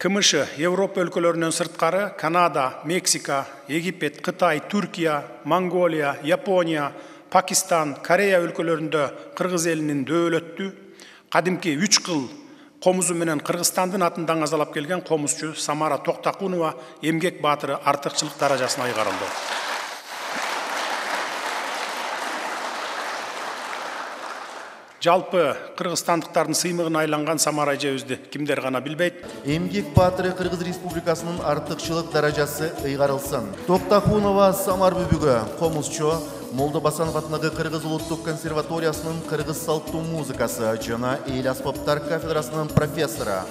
КМШ Европа өлкөлөрүнөн сырткары Канада, Мексика, Египет, Кытай, Түркия, Монголия, Япония, Пакистан, Корея өлкөлөрүндө кыргыз элинин дөөлөттүү кадимки 3 кыл комузу менен Кыргызстандын атын даңазалап келген комузчу Самара Токтакунова эмгек баатыры артыкчылык даражасына ыйгарылды. Жалпы кыргызстандыктардын сыймыгына айланган Самара эжебизди кимдер гана билбейт. Эмгек баатыры Кыргыз Республикасынын артыкчылык даражасы ыйгарылсын. Токтакунова Самар бүбүгү комузчу, Молдо Басанов атындагы Кыргыз улуттук консерваториясынын кыргыз салттуу музыкасы жана эл аспаптар кафедрасынын профессору.